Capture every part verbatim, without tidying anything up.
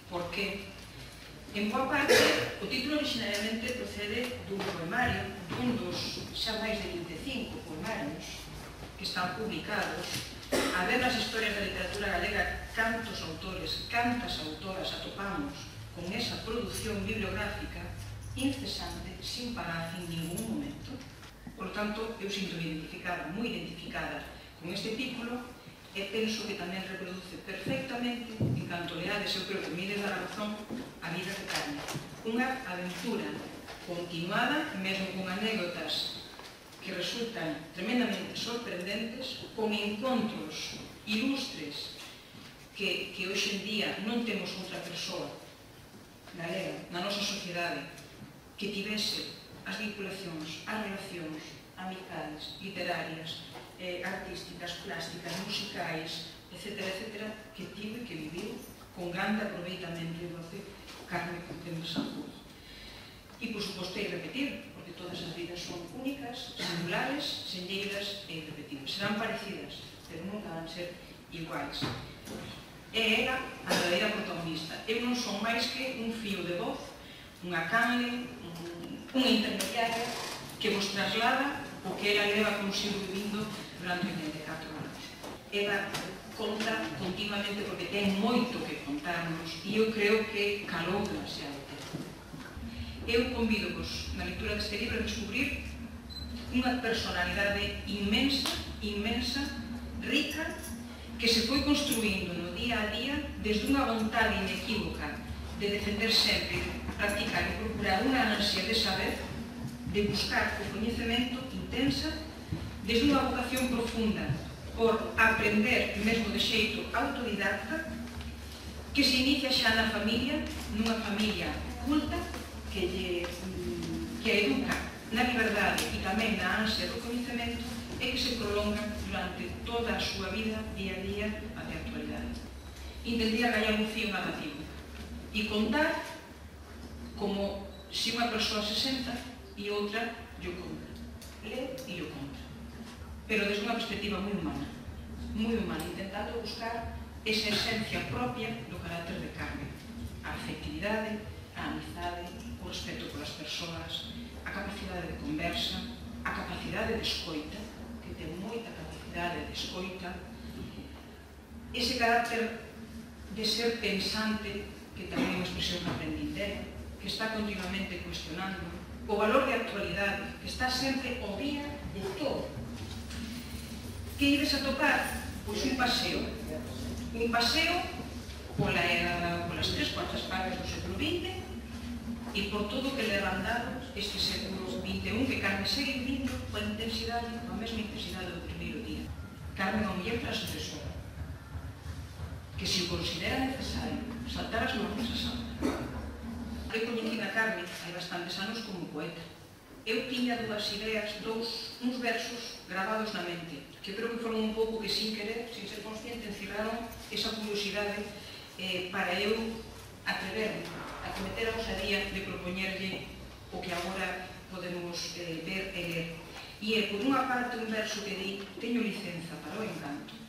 Por que? En boa parte, o título originariamente procede dun poemario, dun dos xa máis de vinte e cinco poemarios que están publicados. A ver nas historias da literatura galega cantos autores, cantas autoras atopamos con esa produción bibliográfica incesante, sin parar en ningún momento. Por lo tanto, eu sinto identificada, moi identificada con este título, e penso que tamén reproduce perfectamente, en canto leades, eu creo que me ides dar a razón, a vida de Carme. Unha aventura continuada, mesmo con anécdotas que resultan tremendamente sorprendentes, con encontros ilustres que, que hoxe en día non temos outra persoa galega na nosa sociedade que tivese as vinculacións, as relacións amicales, literarias, eh, artísticas, plásticas, musicais, etcétera, etcétera, que tivo e que viviu con grande aproveitamento e doce Carme Quintero Sanjurjo. E, por suposto, é repetir, porque todas as vidas son únicas, singulares, senlleiras e irrepetibles. Serán parecidas, pero nunca van ser iguais. É ela a verdadeira protagonista. Eu non son máis que un fío de voz, unha canle, unha intermediaria que vos traslada o que ela leva consigo vivindo durante oitenta e catro anos. Ela conta continuamente porque ten moito que contarnos e eu creo que calou demasiado tempo. Eu convido-vos na lectura deste libro a descubrir unha personalidade inmensa, inmensa, rica, que se foi construindo no día a día desde unha vontade inequívoca de defender sempre, practicar e procurar unha ansia de saber, de buscar o coñecemento intensa, desde unha vocación profunda por aprender, mesmo de xeito autodidacta, que se inicia xa na familia, nunha familia culta, que lle que educa na liberdade e tamén na ansia do coñecemento e que se prolonga durante toda a súa vida, día a día, até a actualidade. Intentía gallar un fío narrativo e contar como se unha persoa se senta e outra lle conta. Lee e lle conta. Pero desde unha perspectiva moi humana, moi humana, intentando buscar esa esencia propia do carácter de Carme. A afectividade, a amizade, o respeto polas persoas, a capacidade de conversa, a capacidade de escoita, que ten moita capacidade de escoita, ese carácter de ser pensante, que tamén é unha expresión que aprendín dela, que está continuamente cuestionando, o valor de actualidade, que está sempre ao día de todo. Que ides a topar? Pois un paseo. Un paseo pola era, polas tres cuartas partes do século vinte e por todo o que le han dado este século vinte e un, que Carme segue vivindo coa intensidade, coa mesma intensidade do primeiro día. Carme é unha muller transgresora, que se o considera necesario saltar as normas a salta. Eu coñecí a Carme hai bastantes anos como poeta. Eu tiña dúas ideas, dous, uns versos gravados na mente, que creo que foron un pouco que sin querer, sin ser consciente, encirraron esa curiosidade eh, para eu atreverme a cometer a osadía de propoñerlle o que agora podemos eh, ver e ler. E é, por unha parte, un verso que di teño licenza para o encanto,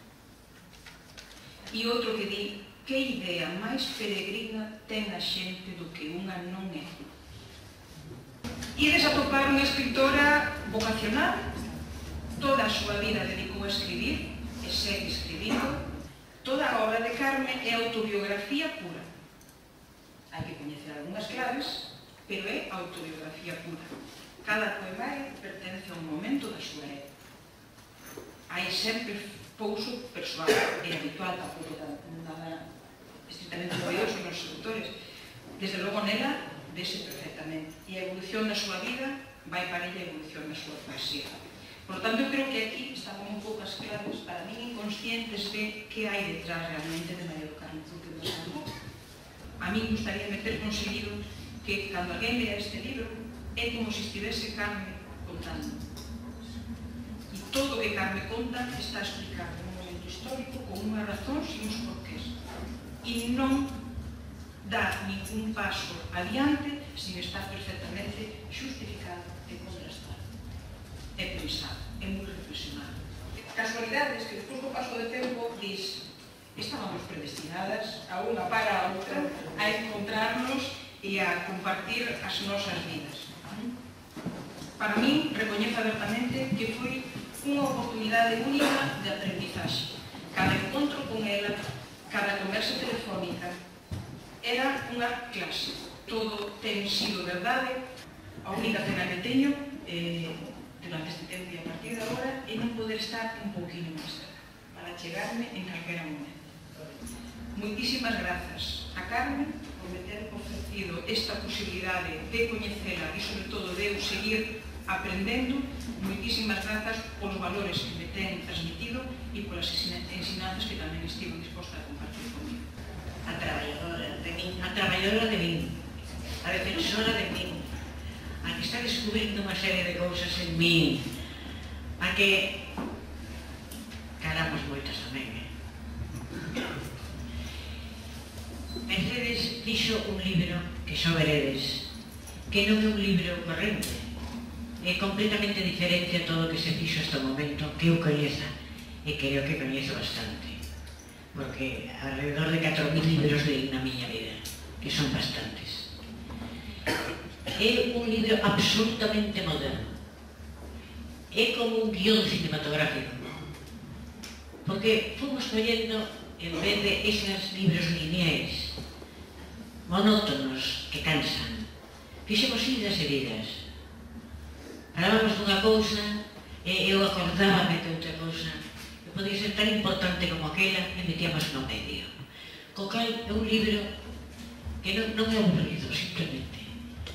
e outro que di que idea máis peregrina ten a xente do que unha non é. Ides a topar unha escritora vocacional, toda a súa vida dedicou a escribir e segue escribindo. Toda a obra de Carme é autobiografía pura. Hai que coñecer algunhas claves, pero é autobiografía pura. Cada poemario pertence a un momento da súa época. Hai sempre pouso persoal, é habitual, tampouco nada estritamente novedoso nos escritores. Desde logo nela, vese perfectamente. E a evolución da súa vida vai para ella a evolución da súa poesía. Por lo tanto, eu creo que aquí están un pouco as claves para mí inconscientes de que hai detrás realmente de María do Carmo Quintero Sanjurjo. A mí gustaría ter conseguido que, cando alguén lea este libro, é como se estivese Carme contando. E todo o que Carme conta está explicado nun momento histórico con unha razón e uns porqués. E non dá ningún paso adiante sin estar perfectamente justificado e contrastado. É pensado, é moi reflexionado. Casualidades que despois do paso do tempo dis estábamos predestinadas a unha para a outra a para compartir as nosas vidas. Para min, recoñezo abertamente que foi unha oportunidade única de aprendizaxe. Cada encontro con ela, cada conversa telefónica, era unha clase. Todo ten sido verdade. A única pena que teño eh, durante este tempo e a partir de agora é non poder estar un pouquinho máis cerca para chegarme en calquera momento. Moitísimas grazas a Carmen por me ter ofrecido esta posibilidade de coñecela e, sobre todo, de eu seguir aprendendo. Moitísimas grazas polos valores que me ten transmitido e polas ensinanzas que tamén estivo disposta a compartir comigo. A traballadora de min, a traballadora de min, a defensora de min, a que está descubrindo unha serie de cousas en min, a que caramos moitas tamén, eh? Mercedes fixo un libro que xa veredes, que non é un libro corrente, é completamente diferente a todo o que se fixo hasta o momento, que eu coñeza, e creo que coñezo bastante, porque alrededor de catro mil libros leí na miña vida, que son bastantes. É un libro absolutamente moderno, é como un guión cinematográfico, porque fomos collendo, en vez de esos libros lineais, monótonos, que cansan, fixemos idas e vidas. Falábamos dunha cousa e eu acordábame de outra cousa que podía ser tan importante como aquela e metíamos no medio. Co cal é un libro que non, non é aburrido, simplemente,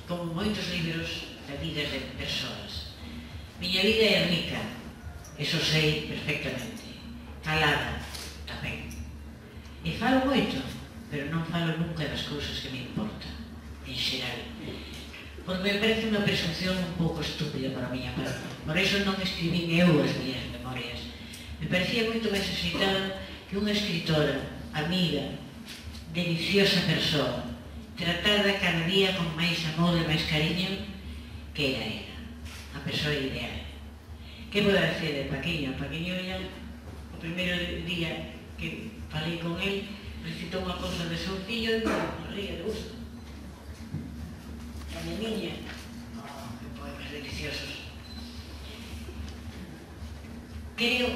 como moitos libros de vidas de persoas. Miña vida é rica, eso sei perfectamente, calada tamén. E falo moito, pero non falo nunca das cousas que me importan, en xeral. Porque me parece unha presunción un pouco estúpida para a miña parte. Por iso non escribín eu as miñas memorias. Me parecía moito máis axeitada que unha escritora, amiga, deliciosa persoa, tratada cada día con máis amor e máis cariño, que era ela, a persoa ideal. Que vou decir de Paquiño? Paquiño ya, o primeiro día que falei con el, recitou unha cousa de seu fillo e me ría de gusto. A niña, oh, que poemas deliciosos. Creo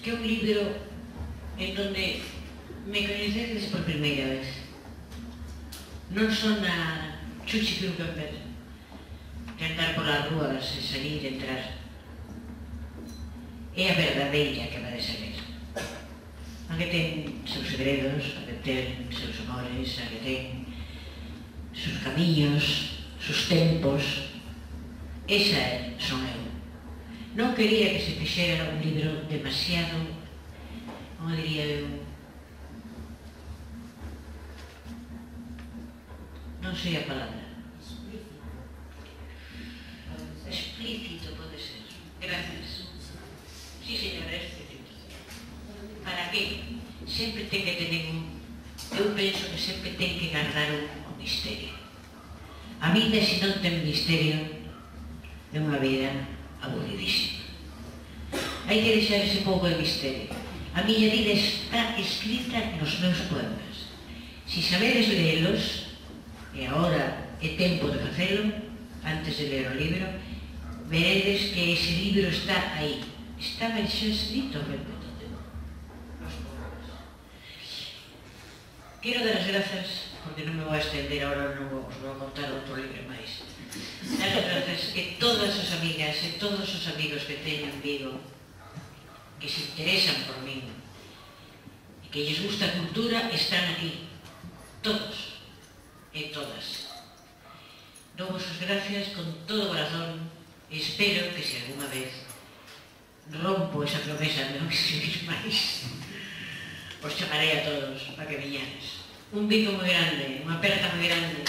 que é un libro en donde me coñecedes por primeira vez. Non son a Chuchi Kruger de andar polas rúas e salir e entrar. É a verdadeira que va de saber. A que ten seus segredos, a que ten seus amores, a que ten sus camiños, sus tempos. Esa son eu. Non quería que se fixera un libro demasiado, como diría eu, non sei a palabra. Explícito pode ser. Gracias. Sí, señora, é explícito. Para que? Sempre ten que tener un... Eu penso que sempre ten que guardar un, un misterio. A vida, se non ten misterio, é unha vida aburridísima. Hai que deixar ese pouco de misterio. A miña vida está escrita nos meus poemas. Si sabedes leelos, e agora é tempo de facelo, antes de ler o libro, veredes que ese libro está aí. Está ben xa escrito, pero quero dar as grazas, porque non me vou a estender agora, non vos vou contar outro libro máis. Dar as grazas que todas as amigas e todos os amigos que teño en Vigo, que se interesan por min, e que lles gusta a cultura, están aquí. Todos e todas. Dou-vos as gracias con todo o corazón e espero que se alguna vez rompo esa promesa de non escribir máis, os chamarei a todos para que viñades. Un bico moi grande, unha aperta moi grande.